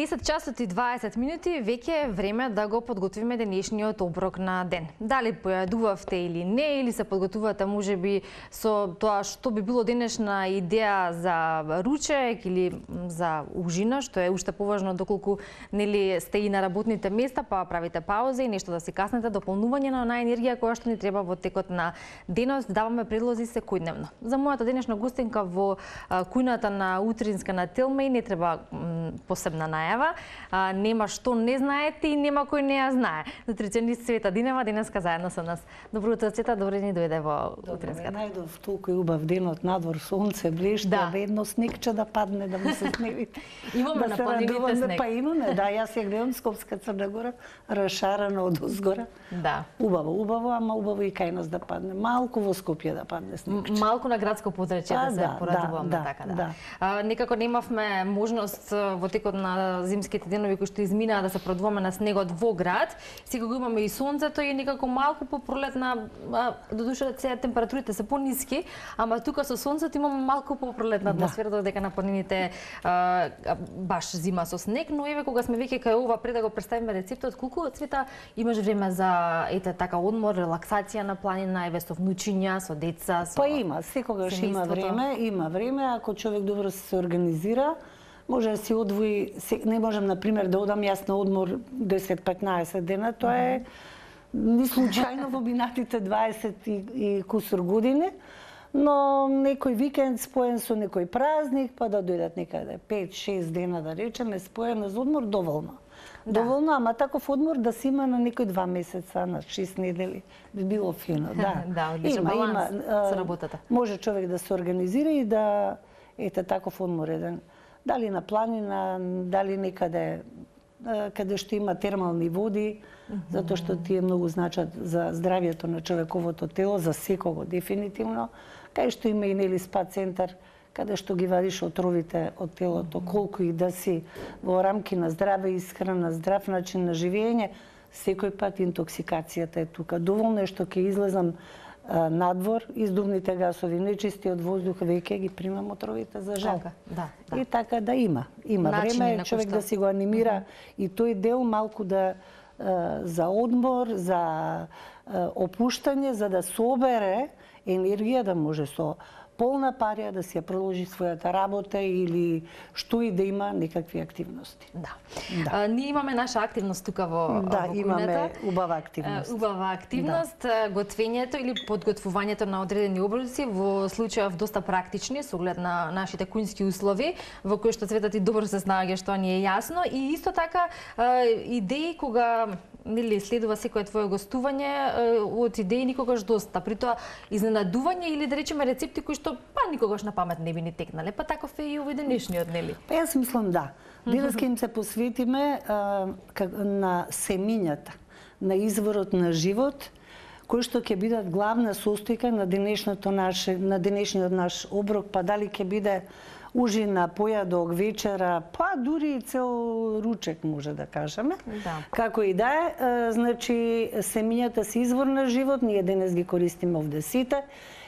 10 часот и 20 минути, веќе е време да го подготвиме денешниот оброк на ден. Дали појадувавте или не, или се подготвувате можеби со тоа што би било денешна идеја за ручек или за ужина, што е уште поважно доколку нели сте и на работните места, па правите пауза и нешто да си каснете, дополнување на онаа енергија која што ни треба во текот на денот. Даваме предлози секојдневно. За мојата денешна гостинка во кујната на утринска на Телма и не треба посебна најава. Нема што не знаете и нема кој не ја знае. Нутриционист Цвета Динева денеска заедно со нас. Добро утро, Цвета, добре ни дојде во утринската. Најдов толку убав денот, надвор сонце блешти, ведно снегче да падне, да му се сневите. Имаме на планините снег. Па имаме, да, јас ја гледам Скопска Црна Гора, расшарена од озгора. Да. Убаво, ама убаво и кај нас да падне. Малку во Скопје да падне снегче. Малку на градско подрачје да се порадуваме така да. Некако немавме можност во текот на зимските денови кои што изминаа да се продуваме на снегот во град. Сега го имаме и сонцето и некако малку по пролетна, додуша сега температурите се пониски, ама тука со сонцето имаме малку по пролетна атмосфера, додека на планините баш зима со снег, но еве кога сме веќе кај ова, пред да го представиме рецептот, колку, Цвета, имаш време за така одмор, релаксација на планина, еве со внучиња, со деца, со Па има, секогаш има време, ако човек добро се организира, може да си одвои, не можам, например, да одам јас на одмор 10-15 дена, тоа е ни случајно во минатите 20 и кусур години, но некој викенд споен со некој празник, па да дојдат некаде 5-6 дена, да речеме, споено за одмор, доволно. Доволно, ама таков одмор да се има на некој 2 месеца, на 6 недели, би било фино, да. Да, одличен баланс со работата. Може човек да се организира и да ете таков одмор еден. Дали на планина, дали некаде каде што има термални води, затоа што тие многу значат за здравјето на човековото тело, за секого дефинитивно, кај што има и нели спа центар, каде што ги вадиш отровите од телото, колку и да си во рамки на здраве исхрана, здрав начин на живење, секој пат интоксикацијата е тука. Доволно е што ќе излезам надвор, издувните гасови, нечистиот воздух, веќе ги примам отровите за жал. Да. И така да има време човек да си го анимира и тој дел малку да за одмор, за опуштање, за да собере енергија, да може со полна парија да си ја продолжи својата работа или што и да има некакви активности. Да. Ние имаме наша активност тука во кујната. Имаме убава активност. Убава активност, готвењето или подготвувањето на одредени оброци, во случајов доста практични, со оглед на нашите кујнски услови, во кои што Цвета ти добро се снаоѓаш, тоа ни е јасно, и исто така идеи кога нели следува секое твое гостување, од идеи никогаш доста. При тоа изненадување или да речеме рецепти кои што па никогаш на памет не би ни текнале, па таков е и овој денешниот, нели? Па јас мислам да. Денеска им се посветиме на семињата, на изворот на живот, кои што ќе бидат главна состојка на денешниот наш оброк, па дали ќе биде ужина, појадок, вечера, па дури и цел ручек може да кажеме. Како и да е, значи семињата се извор на живот, ние денес ги користиме овде сите.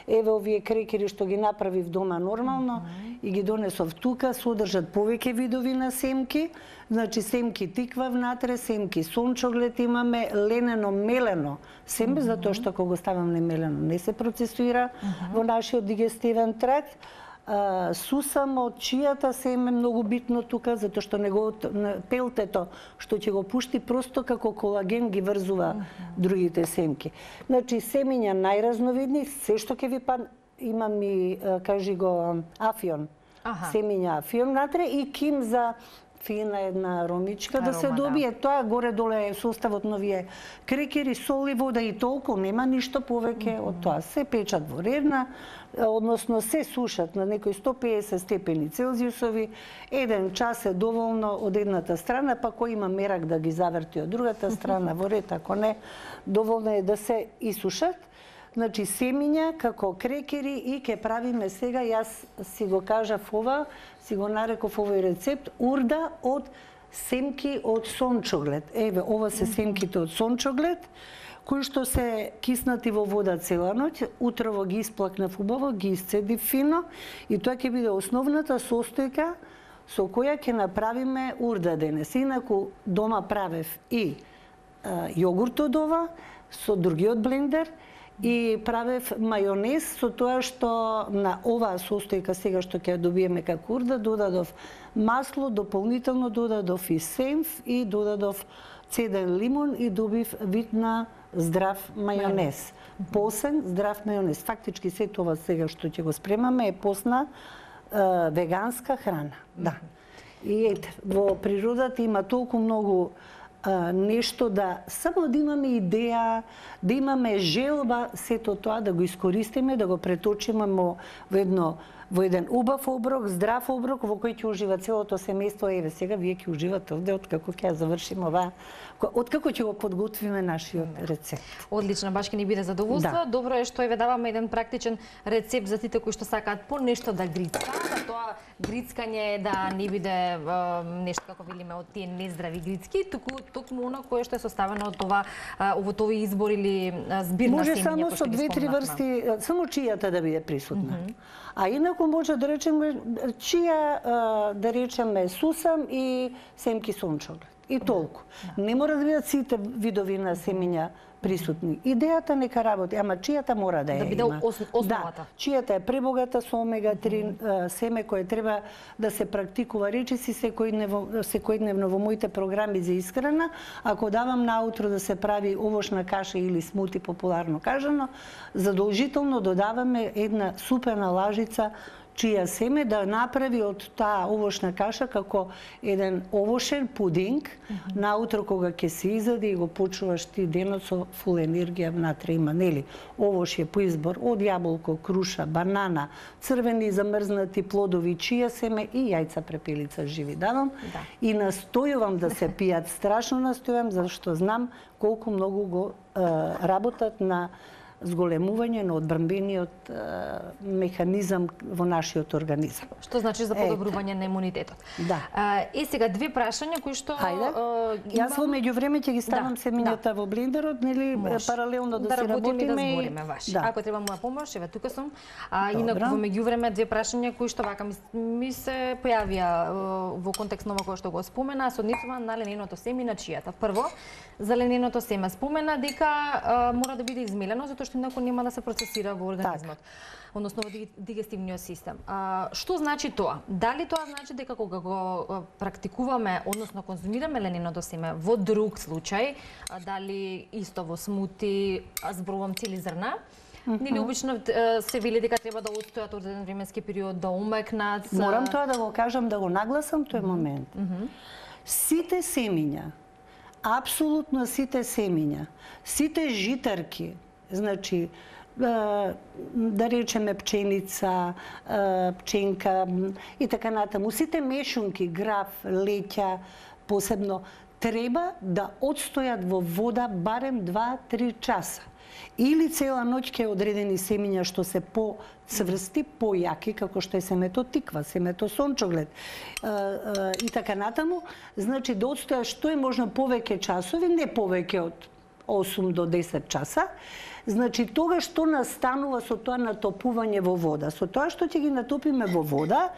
Еве овие крекери што ги направив дома нормално и ги донесов тука, содржат повеќе видови на семки, значи семки тиква внатре, семки сончоглед имаме, ленено, мелено семе, затоа што кога го ставам немелено не се процесуира во нашиот дигестивен тракт. Сусам од чијата семе многу битно тука, затоа што пелтето што ќе го пушти просто како колаген ги врзува другите семки. Значи семиња најразновидни, се што ќе ви падне, имам и кажи го афион. Семиња афион натре и ким за фина една ромичка да се добие. Тоа горе-доле е составот на овие крекери, сол и вода и толку, нема ништо повеќе од тоа. Се печат во редна, односно се сушат на некои 150 степени Целзиусови, 1 час е доволно од едната страна, па кој има мерак да ги заврти од другата страна, во ред, ако не, доволно е да се исушат. Значи семиња како крекери и ќе правиме сега, јас си го кажав ова, си го нареков овој рецепт, урда од семки од сончоглед. Еве, ова се семките од сончоглед, кои што се киснати во вода цела ноќ, утрово ги исплакнав убаво, ги исцедив фино и тоа ќе биде основната состојка со која ќе направиме урда денес. Инаку дома правев и јогурт од ова, со другиот блендер, и правев мајонез со тоа што на оваа состојка сега што ќе добиеме како урда, додадов масло, дополнително додадов и сенф и додадов цеден лимон и добив вид на здрав мајонез. Посен, здрав мајонез. Фактички се тоа сега што ќе го спремаме е посна веганска храна. Да. И ете, во природата има толку многу нешто да само да имаме идеја, да имаме желба сето тоа да го искористиме, да го преточиме во еден убав оброк, здрав оброк во кој ќе ужива целото семејство. Еве сега вие ќе уживате овде откако ќе завршиме оваа, откако ќе го подготвиме нашиот рецепт. Одлично, баш ќе ни биде задоволство. Да. Добро е што еве даваме еден практичен рецепт за сите кои што сакаат по нешто да грицкаат, а тоа грицкање да не биде нешто како велиме од тие нездрави грицки, токму она кое што е составено од това од овој избор или збирна семења. Може само со 2-3 врсти, само чијата да биде присутна. А инаку може да речеме чија, да речеме сусам и семки сончоглед. И толку. Не мора да бидат сите видови на семења присутни. Идејата нека работи, ама чијата мора да ја има. Да биде основата. Да, чијата е пребогата со омега-3 семе кое треба да се практикува речиси секојдневно во моите програми за исхрана. Ако давам наутро да се прави овошна каша или смути популарно кажано, задолжително додаваме една супена лажица чија семе да направи од таа овошна каша како еден овошен пудинг, наутро кога ќе се изади и го почуваш ти денот со фул енергија внатре има, нели? Овош е по избор од јаболко, круша, банана, црвени замрзнати плодови, чија семе и јајца препелица живи давам. Да. И настојувам да се пијат, страшно настојувам, зашто знам колку многу го работат на зголемување на одбранбениот механизам во нашиот организам. Што значи за подобрување на имунитетот. Да. Сега две прашања кои што Јас во меѓувреме ќе ги ставам семењата во блендерот, нели паралелно да се работиме и да збориме ваш. Ако треба моја помош, еве тука сум. Инаку во меѓувреме две прашања кои што вака ми се појавија во контекст на ова кој што го спомена, се однесува на лененото семе и на чијата. Прво, за лененото семе спомена дека мора да биде измелено затоа што инаку нема да се процесира во организмот, односно во дигестивниот систем. Што значи тоа? Дали тоа значи дека кога го практикуваме, односно конзумираме лененото семе во друг случај, дали исто во смути, зборувам цели зрна, нели обично се вели дека треба да отстојат одреден временски период, да умекнат. Морам тоа да го кажам, да го нагласам тој момент. Сите семења, апсолутно сите семења, сите житарки, значи, да речеме пченица, пченка и така натаму, сите мешунки, граф, леќа, посебно, треба да отстојат во вода барем 2-3 часа. Или цела ноќ ке одредени семења што се по-цврсти, по-јаки, како што е семето тиква, семето сончоглед и така натаму, значи да отстоја што е можно повеќе часови, не повеќе од 8 до 10 часа. Значи, тогаш што настанува со тоа натопување во вода? Со тоа што ќе ги натопиме во вода,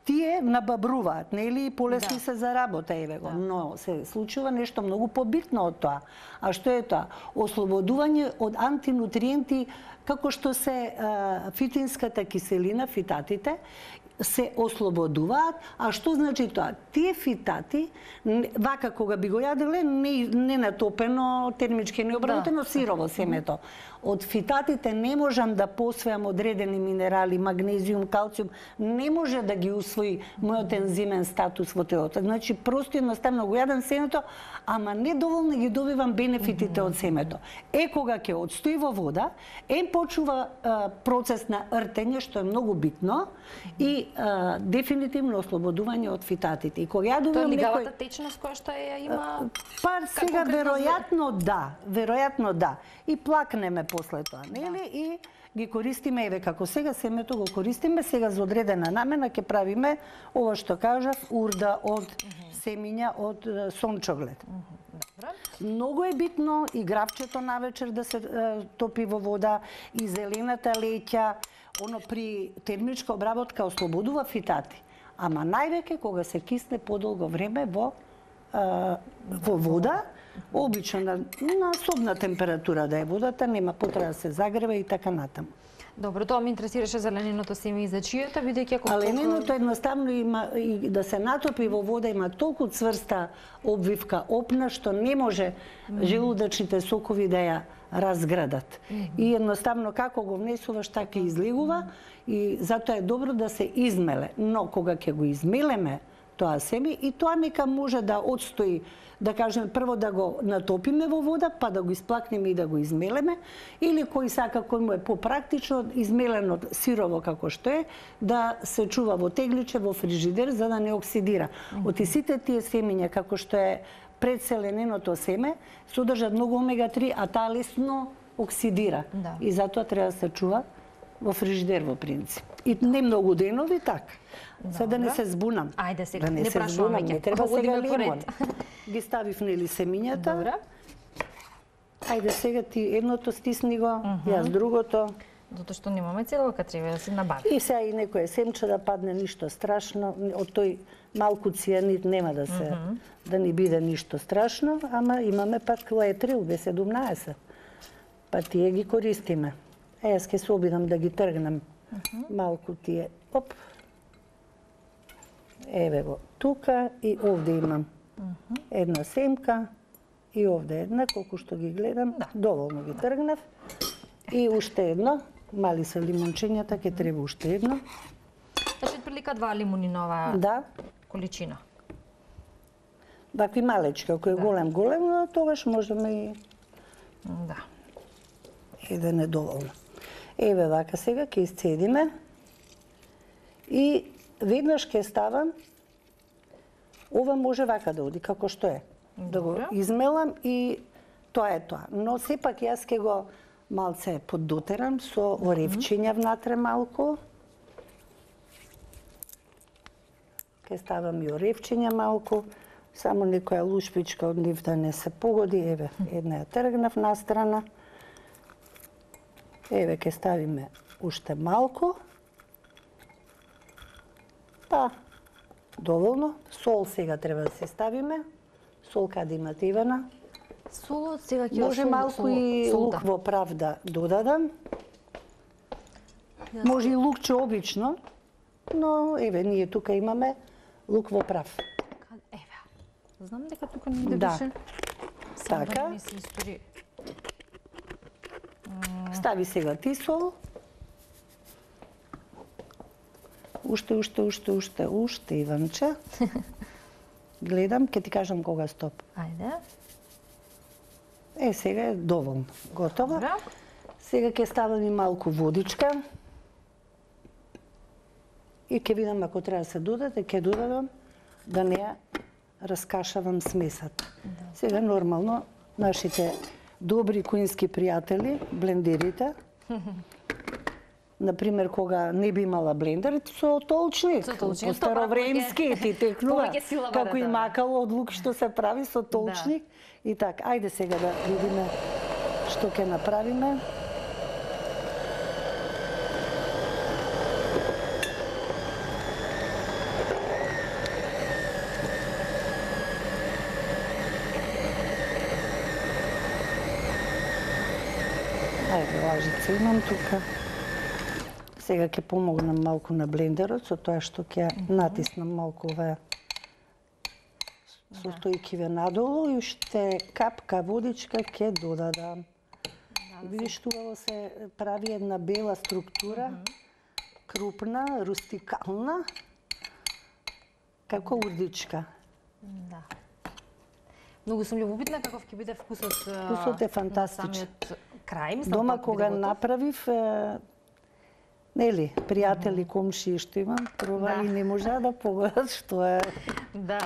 тие набабруваат, нели, и полесно се за работа, еве го. Но се случува нешто многу побитно од тоа. А што е тоа? Ослободување од антинутриенти, како што се фитинската киселина, фитатите, се ослободуваат. А што значи тоа? Тие фитати, вака кога би го јаделе, не натопено, термички необработено, сирово семето. Од фитатите не можам да посвојам одредени минерали, магнезиум, калциум, не може да ги усвои мојот ензимен статус во телото. Значи, просто едноставно го јадам семето, ама недоволно ги добивам бенефитите од семето. Кога ќе отстои во вода, почува процес на ртење, што е многу битно, и дефинитивно ослободување од фитатите. И кога ја добивам лигавата течност која што ја има? Па сега веројатно да. И плакнеме после тоа, нели? И ги користиме, еве како сега семето го користиме, сега за одредена намена ќе правиме ова што кажав, урда од семења од сончоглед. Многу е битно и гравчето навечер да се топи во вода, и зелената леќа, оно при термичка обработка ослободува фитати. ама највеќе кога се кисне подолго време во вода, обично на собна температура да е водата, нема потреба да се загрева и така натаму. Добро, тоа ме интересираше за лененото семе и за чијата, бидејќи ако лененото едноставно има и да се натопи во вода, има толку цврста обвивка опна што не може желудочните сокови да ја разградат. И едноставно како го внесуваш така излегува и затоа е добро да се измеле. Но кога ќе го измелеме тоа семе и тоа нека може да отстои, да кажем, прво да го натопиме во вода, па да го исплакнеме и да го измелеме, или кој сака, кој му е попрактично, измелено сирово како што е, да се чува во тегличе, во фрижидер, за да не оксидира. Оти сите тие семења, како што е предселененото семе, содржат многу омега-3, а таа лесно оксидира. Да. И затоа треба да се чува во фрижидер во принцип. И не многу денови така. Се да не се збунам. Ајде сега, да не прашуваме ќе. Не треба сега лимон. Ги ставив нели семињата. Добра. Ајде сега ти едното стисни го, јас другото. Затоа што немаме целока, треба да се набави. И сега и некое семче да падне, ништо страшно. Од тој малку цијанид нема да се да ни биде ништо страшно, ама имаме пак летрил B17. Па тие ги користиме. Јас ќе се обидам да ги тргнам малку тие. Оп. Еве го тука и овде имам една семка и овде една, колку што ги гледам, доволно ги тргнав. И уште едно, мали се лимончињата, ќе треба уште едно. Значи прилика 2 лимуни на оваа количина. Вакви малечки, ако е голем, но тогаш можеме и еден е доволно. Еве вака сега ќе исцедиме и веднаш ќе ставам, ова може вака да оди како што е. Да го измелам и тоа е тоа. Но сепак јас ќе го малце поддотерам со оревчиња внатре малку. Ќе ставам и оревчиња малку, само некоја лушпичка од нив да не се погоди. Еве, една ја тргнав настрана. Еве ќе ставиме уште малку. Па, доволно. Сол сега треба да се ставиме. Сол каде имате, Ивана? Солот сега ќе може малку и лук во прав да додадам. Може и лукче обично, но еве ние тука имаме лук во прав. Еве. Знам дека тука не беше. Така. Стави сега ти сол. Уште, Иванче. Гледам, ќе ти кажам кога стоп. Ајде. Сега е доволно. Готово. Сега ќе ставам и малку водичка. И ќе видам ако треба да се додаде, ќе додадам да не ја раскашавам смесата. Сега нормално нашите добри куински пријатели, блендерите, например, кога не би имала блендер, со толчник, по старовремски ти текнува, како и макало од лук што се прави со толчник. И така, ајде сега да видиме што ќе направиме. Ајде, лажица имам тука. Сега ќе помогнам малку на блендерот, со тоа што ќе натиснам малку оваа состојкиве надолу и уште капка водичка ќе додадам. Видиш, тука се прави една бела структура, крупна, рустикална, како урдичка. Да. Многу сум љубопитна каков ќе биде вкусот. Вкусот е фантастичен. Крај, дома кога направив, нели, пријатели, комши што имам, пробали не можа да погодат што е. Да.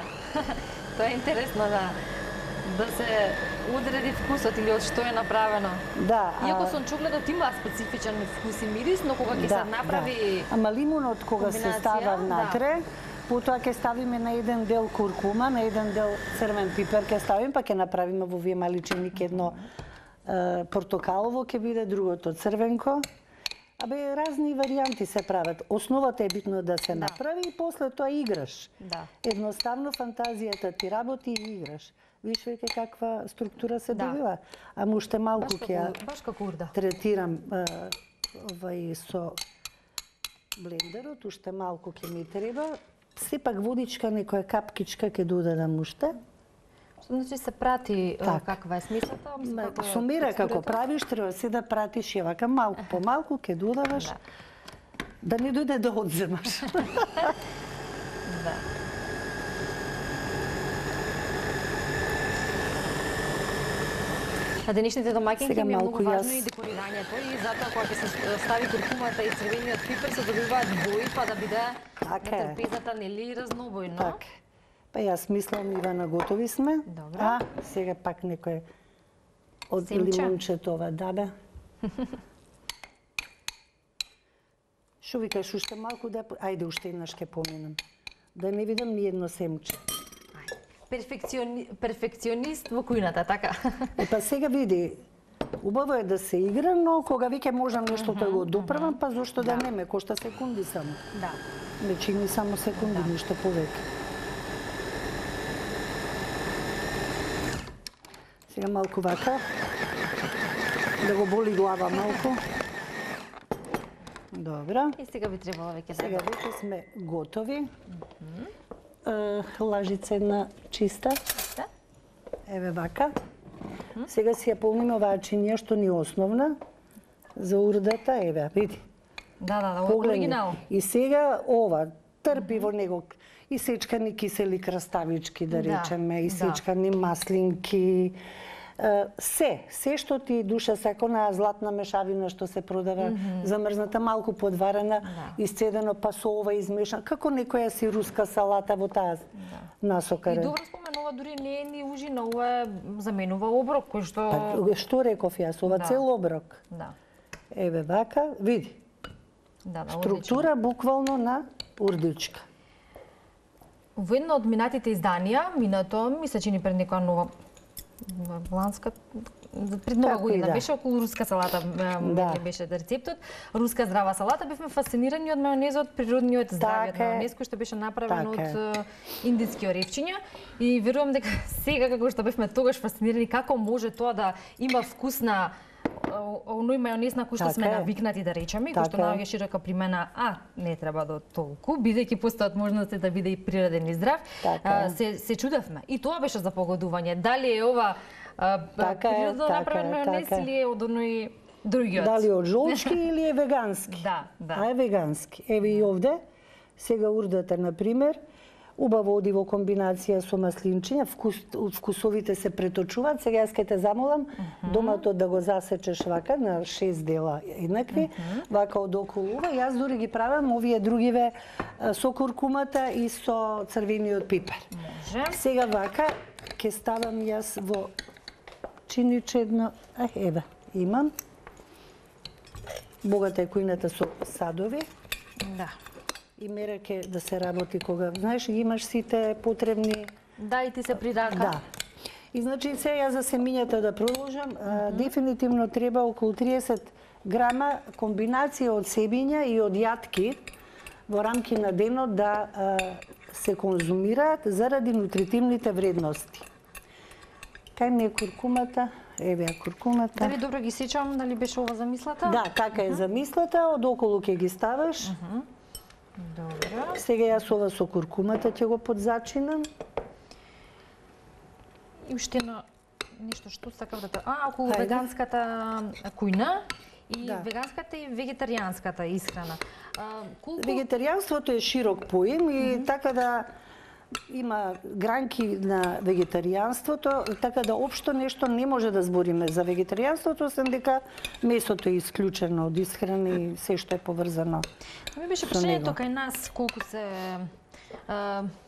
Тоа е интересно да се одреди вкусот или од што е направено. Да. Иако сончогледот има специфичен вкус и мирис, но кога ќе се направи ама лимонот кога се става внатре, потоа ќе ставиме на еден дел куркума, на еден дел црвен пипер ќе ставиме, па ќе направиме во овие маличеники едно портокалово ќе биде, другото црвенко. Абе, разни варијанти се прават. Основата е битно да се направи и после тоа играш. Да. Едноставно фантазијата ти работи и играш. Виж веќе каква структура се добива. Ама уште малку ќе баш како урда. Третирам со блендерот, уште малку ќе ми треба. Сепак водичка, некоја капкичка ќе додадам уште. Значи се прати каква е смислата? Со мера како правиш, треба се да пратиш и вака малку по малку ќе додаваш. Да не дојде да одземаш. Да. На денешните домаќинки е многу важно и декорирањето и затоа кога ќе се стави куркумата и црвениот пипер се добиваат бои па да биде на трпезата нели разнобојно. Така. Па јас мислам, Ивана, готови сме. Добро. Сега пак некој од лимончето ова даде. Шо викаш, уште малку да... Ајде, уште еднаш ќе поминам. Да не видам ни едно семче. Перфекционист во кујната, така? Па сега види, убаво е да се игра, но кога веќе можам нешто да го доправам, па зошто да не ме кошта секунди само. Да. Не чини само секунди, ништо повеќе. Сега малку вака, да го боли глава малку. Добро. И сега би требало веќе да. Сега веќе сме готови. Лажица една чиста. Еве вака. Сега си ја полниме оваа чинија што ни е основна за урдата. Еве, види. Да, оригинал. И сега ова, трпи во него и сечкани кисели краставички, да речеме, и сечкани маслинки, се што ти душа сака, онаа златна мешавина што се продава, замрзната, малку подварена, исцедено, па со ова измешано, како некоја си руска салата во таа насока. И добро споменува, дури не е ни ужина, ова заменува оброк, кој што... Што реков јас, ова цел оброк. Еве вака, види. Структура буквално на урдичка. Во едно од минатите изданија, минато, ми се чини пред некоја нова бланска, пред нова година беше околу руска салата, беше рецептот. Руска здрава салата, бевме фасцинирани од мајонезот, природниот здравиот мајонез кој што беше направен од индиски оревчиња и верувам дека сега како што бевме тогаш фасцинирани како може тоа да има вкус на оној мајонез на кој што сме навикнати да речеме, кој што наоѓа широка примена, не треба до толку, бидејќи постојат можности да биде и природен и здрав, се чудевме. И тоа беше за погодување. Дали е ова природно направен мајонез или е од оној другиот? Дали од жолчки или е вегански? Да. Е вегански. Еве и овде, сега урдата, например, убаво оди во комбинација со маслинчиња, вкусовите се преточуваат. Сега јас ќе те замолам домато да го засечеш вака на 6 дела еднакви, вака од околу ова. Јас дури ги правам овие другиве со куркумата и со црвениот пипер. Сега вака ќе ставам јас во чиниче едно, еве, имам. Богата е кујната со садови. Да. И мера ке да се работи кога, знаеш, имаш сите потребни... Да, и ти се придака. Да. И значи сега за семињата да продолжам, дефинитивно треба околу 30 грама комбинација од себиња и од јатки во рамки на денот да се конзумираат заради нутритивните вредности. Кај ми е куркумата? Еве куркумата. Дали добро ги сечам, дали беше ова замислата? Да, така е замислата, од околу ќе ги ставаш. Добро. Сега јас ова со куркумата ќе го подзачинам. И уште едно нешто што сакав да... околу веганската кујна и веганската и вегетаријанската исхрана. Вегетаријанството е широк поим и така да има гранки на вегетаријанството, така да општо нешто не може да збориме за вегетаријанството, освен дека месото е исклучено од исхрана и се што е поврзано. Ми беше прашањето кај нас колку се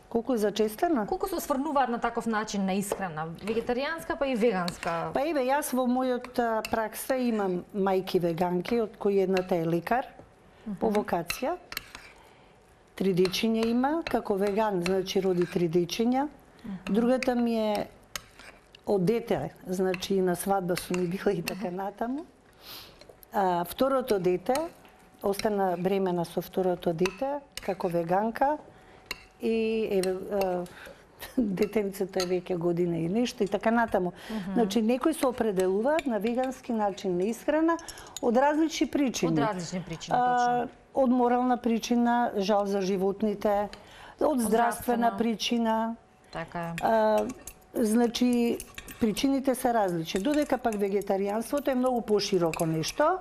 колку е зачестено? Колку се осврнуваат на таков начин на исхрана, вегетаријанска па и веганска? Па еве јас во мојот пракса имам мајки веганки, од кои едната е лекар по вокација. 3 дечиња има, како веган, значи роди 3 дечиња. Другата ми е од дете, значи и на свадба сум ми била и така натаму. Второто дете остана бремена со второто дете, како веганка и детенцето е веќе година и нешто и така натаму. Значи, некои се определуваат на вегански начин на исхрана од различни причини. Од различни причини, точно. Од морална причина, жал за животните, од здравствена причина. Така е. Значи, причините се различни. Додека пак вегетаријанството е многу пошироко нешто,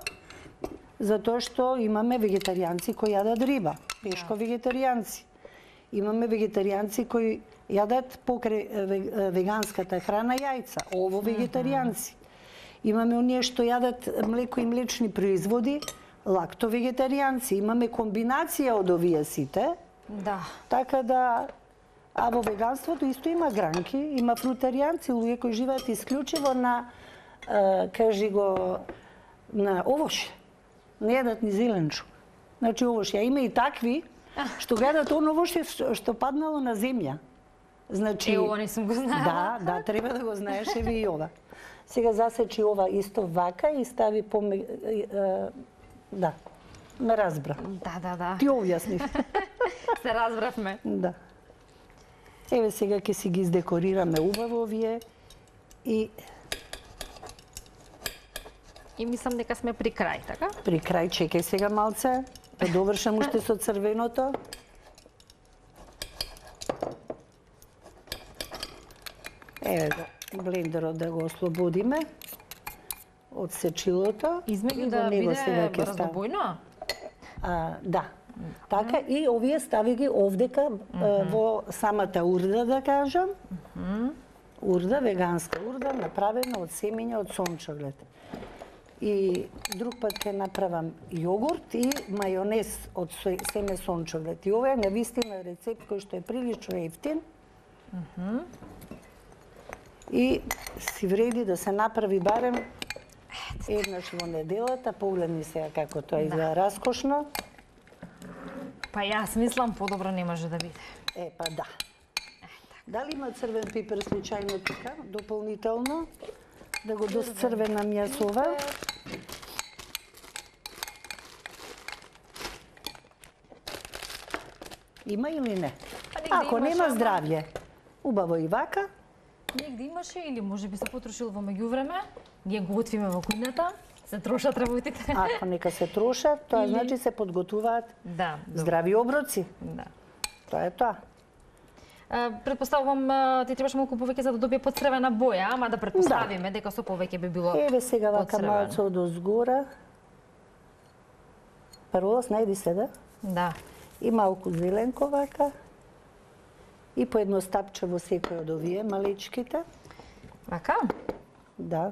затоа што имаме вегетаријанци кои јадат риба, пешко вегетаријанци. Имаме вегетаријанци кои јадат покрај веганската храна јајца, ово вегетаријанци. Имаме оние што јадат млеко и млечни производи, лактовегетаријанци. Имаме комбинација од овие сите. Да. Така да, а во веганството исто има гранки, има фрутаријанци, луѓе кои живеат исклучиво на, кажи го, на овоше. Не јадат ни зеленчук. Значи овоше, а има и такви што гледат оно овоше што паднало на земја. Значи, ова не сум го знаела. Да, треба да го знаеш, еве и ова. Сега засечи ова исто вака и стави да, ме разбра. Да. Ти објаснив. Се разбравме. Да. Еве сега ќе си ги издекорираме убаво овие и мислам дека сме при крај, така? При крај, чекај сега малце, да довршам уште со црвеното. Еве го, блендерот да го ослободиме од сечилото. Измеѓу да биде разнобојно? Да. Така, и овие стави ги овдека во самата урда, да кажам. Урда, веганска урда, направена од семења од сончоглед. И друг пат ќе направам јогурт и мајонез од семе сончоглед. И ова е навистина рецепт кој што е прилично ефтин. И си вреди да се направи барем еднаш во неделата. Погледни сега како тоа изгледа раскошно. Па јас мислам подобро не може да биде. Па да. Дали има црвен пипер случајно тука, дополнително? Да го досцрвенам јас ова. Има или не? Ако нема здравје, убаво и вака. Негде имаше или може би се потрошил во меѓувреме. Ние го готвиме во кујната, се трошат работите. Ако нека се трошат, тоа значи се подготвуваат здрави оброци. Да. Тоа е тоа. Предпоставувам ти требаше малку повеќе за да добие подцрвена боја, ама да предпоставиме дека со повеќе би било. Еве сега вака малце од озгора. Парола, најди се, да? Да. И малку зеленко вака. И по едно стапче во секој од овие малечките. Вака? Да.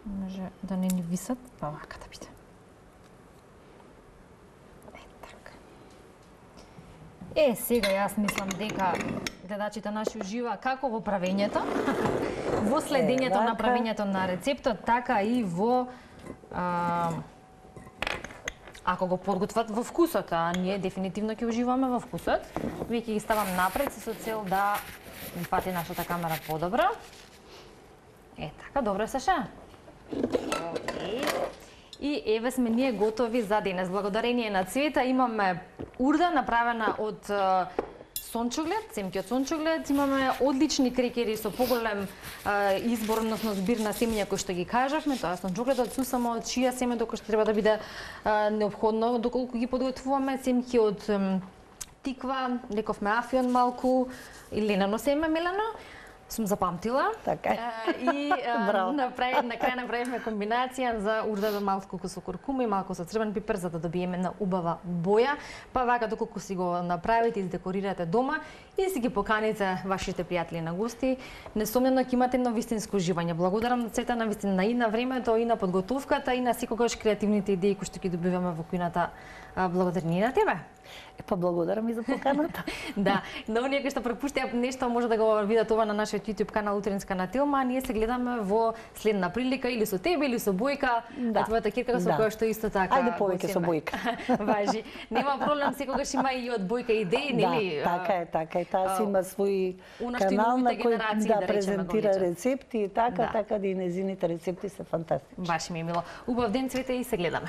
Може да не ни висат, па вака да биде. Сега јас мислам дека гледачите наши ужива како во правењето, во следењето на правењето на рецептот, така и во ако го подготват во вкусот, а ние дефинитивно ќе уживаме во вкусот. Веќе ги ставам напред со цел да ми фати нашата камера подобро. Така, добро се ша. И еве сме ние готови за денес. Благодарение на Цвета имаме урда направена од сончоглед, семки од сончоглед. Имаме одлични крекери со поголем избор, односно збир на семења кои што ги кажавме. Тоа е сончогледот, сусамо, чија семе, доколку што треба да биде неопходно, доколку ги подготвуваме. Семки од тиква, рековме афион малку, и ленено семе, мелено. Сум запамтила. Така е. И на крај направивме комбинација за урда малку со куркума и малку со црвен пипер за да добиеме на убава боја. Па вака доколку си го направите, издекорирате дома и си ги поканите вашите пријатели на гости, несомнено ќе имате едно вистинско уживање. Благодарам на Цвета навистина и на времето, и на подготовката, и на секогаш креативните идеи кои што ги добиваме во кујната. Благодарни на тебе. Па благодарам и за поканата. Да, на оние кои што пропуштија нешто може да го видат ова на нашиот YouTube канал Утринска на Телма, ние се гледаме во следна прилика или со тебе или со Бојка, твојата кирка со која што исто така. Ајде повеќе со Бојка. Важи. Нема проблем, секогаш има и од Бојка идеи, нели? Да, така е. Таа си има свој канал на кој да презентира рецепти и така да и незините рецепти се фантастични. Баш ми е мило. Убав ден, Цвете, и се гледаме.